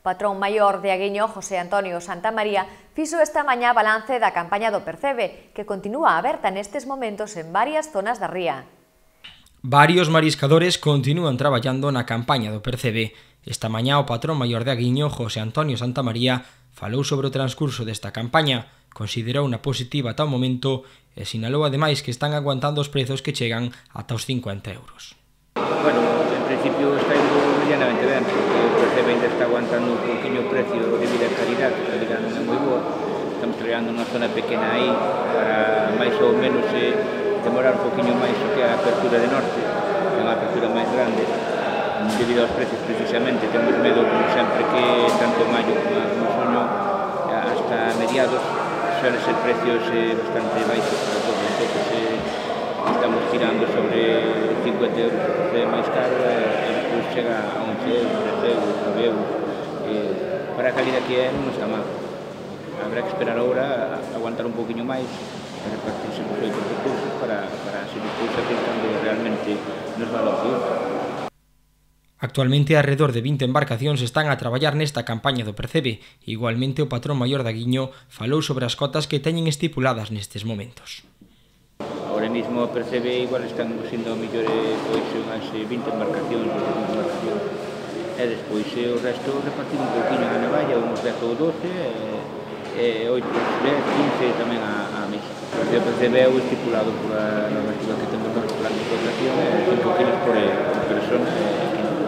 patrón maior de Aguiño, José Antonio Santamaría, fixo esta mañá balance da campaña do Percebe, que continúa aberta nestes momentos en varias zonas da ría. Varios mariscadores continúan traballando na campaña do Percebe. Esta mañá o patrón maior de Aguiño, José Antonio Santamaría, falou sobre o transcurso desta campaña, considerou unha positiva ata o momento e sinalou ademais que están aguantando os prezos que chegan ata os 50 euros. Bueno, en principio está indo medianamente ben, porque o Percebe ainda está aguantando un poquinho o precio debido a calidad, que a calidad non é moi boa. Estamos traballando nunha zona pequena aí para máis ou menos demorar un poquinho máis o que a apertura de norte, que é unha apertura máis grande, debido aos precios precisamente. Temos medo, como sempre, que tanto maio como xuño hasta mediados suelen ser precios bastante baixos para todo. Entonces estamos tirando sobre 50 euros de máis caro e despois chega a 11 euros, 13 euros, 9 euros. Para a calidad que é non está mal. Habrá que esperar agora a aguantar un poquinho máis para repartirse os 8 recursos para se despois aquel cambio realmente nos va a opción. Actualmente, alrededor de 20 embarcacións están a traballar nesta campaña do Percebe. Igualmente, o patrón maior de Aguiño falou sobre as cotas que teñen estipuladas nestes momentos. Ahora mesmo o Percebe igual están sendo mellor unhas 20 embarcacións, e despois o resto repartido un poquinho na navalla, uns 10 ou 12, e 8, 10, 15 tamén a mes. O Percebe é o estipulado pola normativa que temos no plan de explotación, 5 kilos por persona e 15